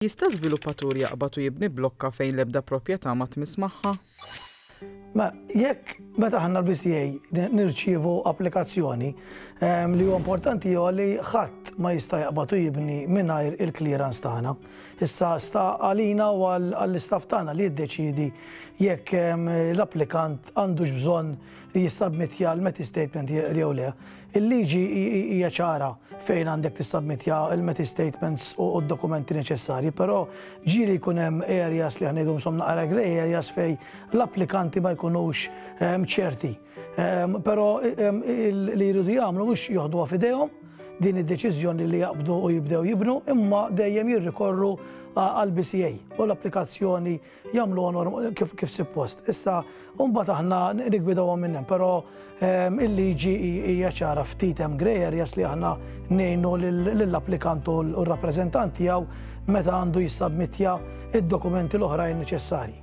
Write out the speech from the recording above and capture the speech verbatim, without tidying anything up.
Jista' żviluppatur jaqbad u jibni blokka fejn l-ebda proprjetà ma tmiss magħha? Ma jekk meta aħna l-B C A nirċievu applikazzjoni, li huwa importanti huwa li ħadd ma jista' jaqbad u jibni mingħajr il-clearance tagħna. Issa sta għalina u għall-istaff tagħna li jiddeċidi jekk l-applikant għandux bżonn li jissabmitja l-METI statement jew le. Il-liġi hija ċara fejn għandek tissabmitja il-METI statements u d-dokumenti neċessarji, però ġieli jkun hemm areas li ħa ngħidu insomma naqra grey areas fejn l-applikanti ma jkunux ċerti. Però li jridu jagħmlu mhux joħduha f'idejhom din id-deċiżjoni li jaqbdu u jibdew jibnu, imma dejjem jirrikorru għal-B C A u l-applikazzjoni jagħmlu kif, kif suppost. Issa, mbagħad aħna nigwidawhom minn hemm, però il-liġi hija ċara, ftit hemm grey areas li aħna ngħinu lill-applikant u r-rappreżentant tiegħu meta għandu jissabmitja id-dokumenti l-oħrajn neċessarji.